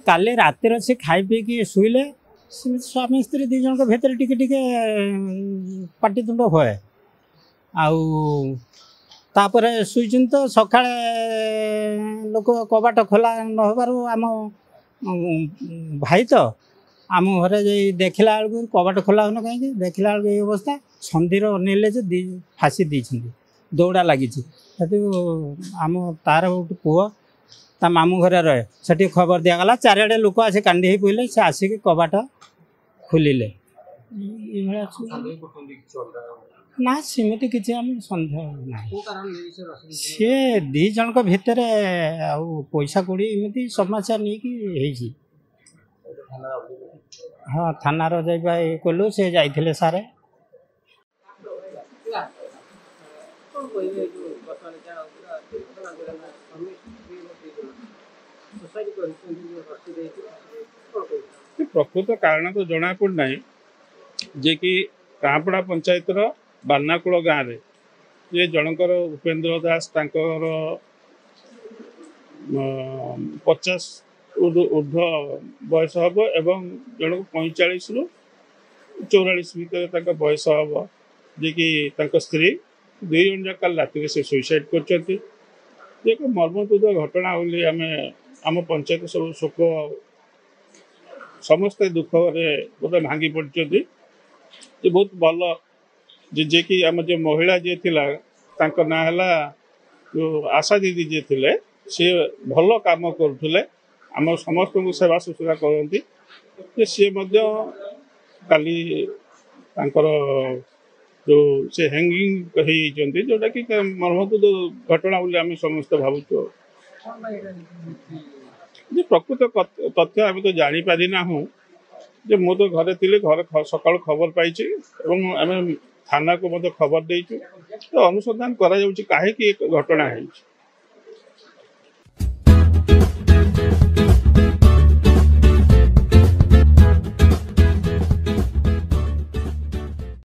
କାଲି ରାତିରେ ସେ ଖାଇ ପିଇକି ଶୋଇଲେ। ସେମିତି ସ୍ୱାମୀ ସ୍ତ୍ରୀ ଦୁଇ ଜଣଙ୍କ ଭିତରେ ଟିକେ ଟିକେ ପାଟିତୁଣ୍ଡ ହୁଏ, ଆଉ ତାପରେ ଶୋଇଛନ୍ତି ତ ସକାଳେ ଲୋକ କବାଟ ଖୋଲା ନ ହେବାରୁ ଆମ ଭାଇ ତ ଆମ ଘରେ ଯାଇ ଦେଖିଲା ବେଳକୁ କବାଟ ଖୋଲା ହେଉନ କାହିଁକି, ଦେଖିଲା ବେଳକୁ ଏଇ ଅବସ୍ଥା। ଛନ୍ଦିର ଅନେଇଲେ ଯେ ଦି ଫାଶୀ ଦେଇଛନ୍ତି, ଦୌଡ଼ା ଲାଗିଛି। ସେଠୁ ଆମ ତାର ଗୋଟେ ପୁଅ ତା ମାମୁଁ ଘରେ ରହେ, ସେଠି ଖବର ଦିଆଗଲା। ଚାରିଆଡ଼େ ଲୋକ ଆସି କାଣ୍ଡି ହେଇ ପଡ଼ିଲେ, ସେ ଆସିକି କବାଟ ଖୋଲିଲେ। ଏଇଭଳିଆ ନା, ସେମିତି କିଛି ଆମ ସନ୍ଦେହ ନାହିଁ। ସିଏ ଦୁଇ ଜଣଙ୍କ ଭିତରେ ଆଉ ପଇସା କଉଡ଼ି ଏମିତି ସମସ୍ୟା ନେଇକି ହେଇଛି। ହଁ, ଥାନାର ଯାଇ ଇଏ କଲୁ, ସେ ଯାଇଥିଲେ ସାରେ। ପ୍ରକୃତ କାରଣ ତ ଜଣାପଡ଼ୁନାହିଁ। ଯେ କି କାଁପଡ଼ା ପଞ୍ଚାୟତର ବାନାକୁଳ ଗାଁରେ ଯେ ଜଣଙ୍କର ଉପେନ୍ଦ୍ର ଦାସ, ତାଙ୍କର 50 ଉର୍ଦ୍ଧ୍ୱ ବୟସ ହେବ ଏବଂ ଜଣକୁ 45ରୁ 44 ଭିତରେ ତାଙ୍କ ବୟସ ହେବ, ଯିଏକି ତାଙ୍କ ସ୍ତ୍ରୀ, ଦୁଇ ଜଣ ଯାକ କାଲି ରାତିରେ ସେ ସୁଇସାଇଡ଼ କରିଛନ୍ତି। ଯେ ଏକ ମର୍ମନ୍ତୁଦ ଘଟଣା ବୋଲି ଆମେ ଆମ ପଞ୍ଚାୟତ ସବୁ ଶୋକ, ସମସ୍ତେ ଦୁଃଖରେ ଗୋଟେ ଭାଙ୍ଗି ପଡ଼ିଛନ୍ତି। ଯେ ବହୁତ ଭଲ ଯେ ଯିଏକି ଆମ ଯେଉଁ ମହିଳା ଯିଏ ଥିଲା, ତାଙ୍କ ନାଁ ହେଲା ଯେଉଁ ଆଶା ଦିଦି ଯିଏ ଥିଲେ, ସିଏ ଭଲ କାମ କରୁଥିଲେ, ଆମ ସମସ୍ତଙ୍କୁ ସେବା ଶୁଶ୍ରୂଷା କରନ୍ତି। ଯେ ସିଏ ମଧ୍ୟ କାଲି ତାଙ୍କର ଯେଉଁ ସେ ହ୍ୟାଙ୍ଗିଂ ହେଇଯାଇଛନ୍ତି, ଯେଉଁଟାକି ମର୍ମନ୍ତୁଦ ଘଟଣା ବୋଲି ଆମେ ସମସ୍ତେ ଭାବୁଛୁ। ଯେ ପ୍ରକୃତ ତଥ୍ୟ ଆମେ ତ ଜାଣିପାରିନାହୁଁ। ଯେ ମୁଁ ତ ଘରେ ଥିଲି, ଘରେ ସକାଳୁ ଖବର ପାଇଛି ଏବଂ ଆମେ ଥାନାକୁ ମଧ୍ୟ ଖବର ଦେଇଛୁ। ତ ଅନୁସନ୍ଧାନ କରାଯାଉଛି କାହିଁକି ଏ ଘଟଣା ହେଇଛି।